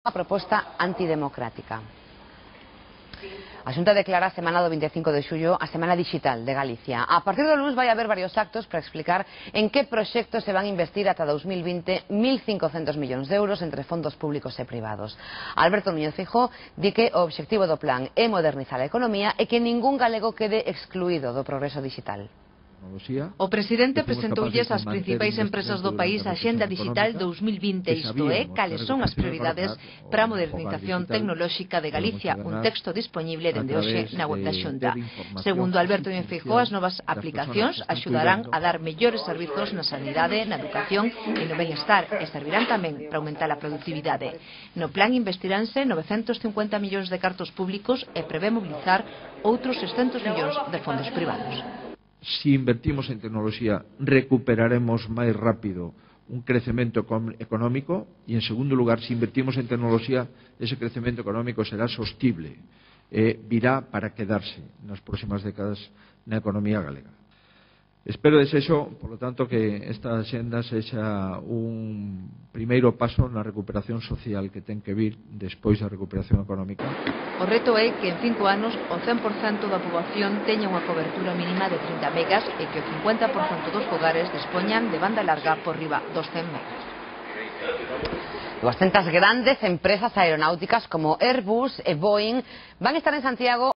Unha proposta antidemocrática. A Xunta declara a semana do 25 de xullo a Semana Digital de Galicia. A partir do luns vai haber varios actos para explicar en que proxectos se van a investir ata 2020 1.500 millóns de euros entre fondos públicos e privados. Alberto Núñez Feijóo di que o obxectivo do plan é modernizar a economía e que ningún galego quede excluído do progreso digital. O presidente presentoulles ás principais empresas do país a Axenda Digital 2020, isto é, cales son as prioridades para a modernización tecnolóxica de Galicia, un texto disponible dende hoxe na web da Xunta. Segundo Alberto Núñez Feijóo, as novas aplicacións axudarán a dar mellores servizos na sanidade, na educación e no benestar e servirán tamén para aumentar a productividade. No plan investiránse 950 millóns de cartos públicos e prevé mobilizar outros 600 millóns de fondos privados. Si invertimos en tecnoloxía, recuperaremos máis rápido un crecemento económico e, en segundo lugar, si invertimos en tecnoloxía, ese crecemento económico será sostible e virá para quedarse nas próximas décadas na economía galega. Espero, desexo, por lo tanto, que esta axenda sexa un primeiro paso na recuperación social que ten que vir despois da recuperación económica. O reto é que en 5 anos o 100% da poboación teña unha cobertura mínima de 30 megas e que o 50% dos fogares dispoñan de banda larga por riba dos 100 megas. 200 grandes empresas aeronáuticas como Airbus e Boeing van a estar en Santiago